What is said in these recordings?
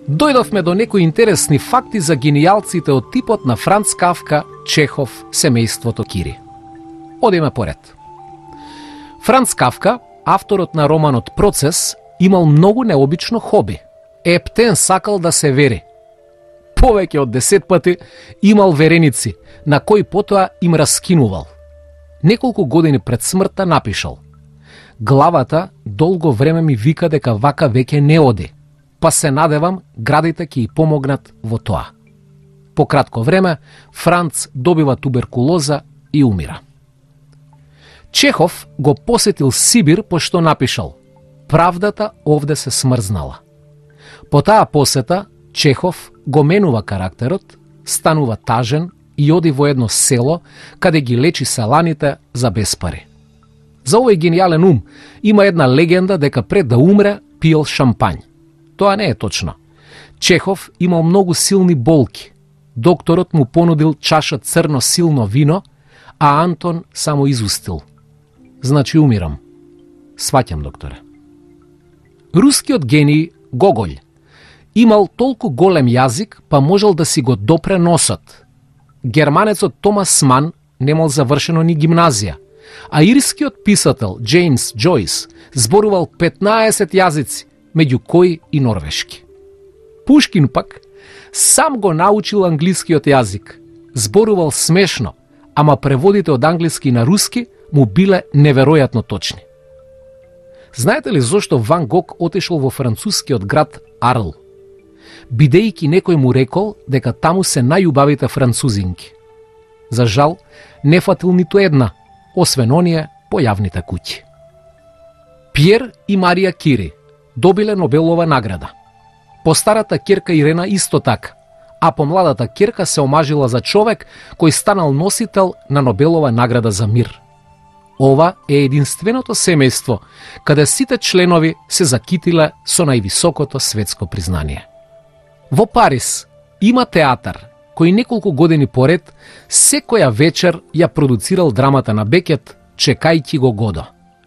Дојдовме до некои интересни факти за генијалците од типот на Франц Кафка, Чехов, семејството Кири. Одиме поред. Франц Кафка, авторот на романот Процес, имал многу необично хоби. Ептен сакал да се вери. Повеќе од 10 пати имал вереници, на кои потоа им раскинувал. Неколку години пред смртта напишал: главата долго време ми вика дека вака веќе не оди, па се надевам градите ќе и помогнат во тоа. По кратко време, Франц добива туберкулоза и умира. Чехов го посетил Сибир пошто напишал: правдата овде се смрзнала. По таа посета, Чехов го менува карактерот, станува тажен и оди во едно село каде ги лечи селаните за безпари. За овој гениален ум има една легенда дека пред да умре пиел шампањ. Тоа не е точно. Чехов имал многу силни болки. Докторот му понудил чаша црно силно вино, а Антон само изустил: значи умирам. Сваќам, докторе. Рускиот гений Гоголј имал толку голем јазик, па можел да си го допре носот. Германецот Томас Ман немал завршено ни гимназија, а ирскиот писател Джеймс Џојс зборувал 15 јазици, меѓу кои и норвешки. Пушкин пак сам го научил англискиот јазик, зборувал смешно, ама преводите од англиски на руски му биле неверојатно точни. Знаете ли зошто Ван Гог отишол во францускиот град Арл? Бидејќи некој му рекол дека таму се најубавите французинки. За жал, не фатил ниту една, освен оние по јавните куќи. Пиер и Марија Кири добиле Нобелова награда. Постарата ќерка Ирена исто така, а помладата ќерка се омажила за човек кој станал носител на Нобелова награда за мир. Ова е единственото семејство каде сите членови се закитиле со највисокото светско признание. Во Париз има театар кој неколку години поред секоја вечер ја продуцирал драмата на Бекет Чекајќи го Годо.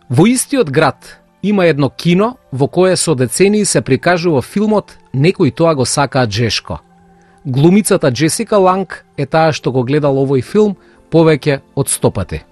Во истиот град има едно кино во кое со децении се прикажува филмот Некои тоа го сакаат жешко. Глумицата Джесика Ланг е таа што го гледал овој филм повеќе од 100 пати.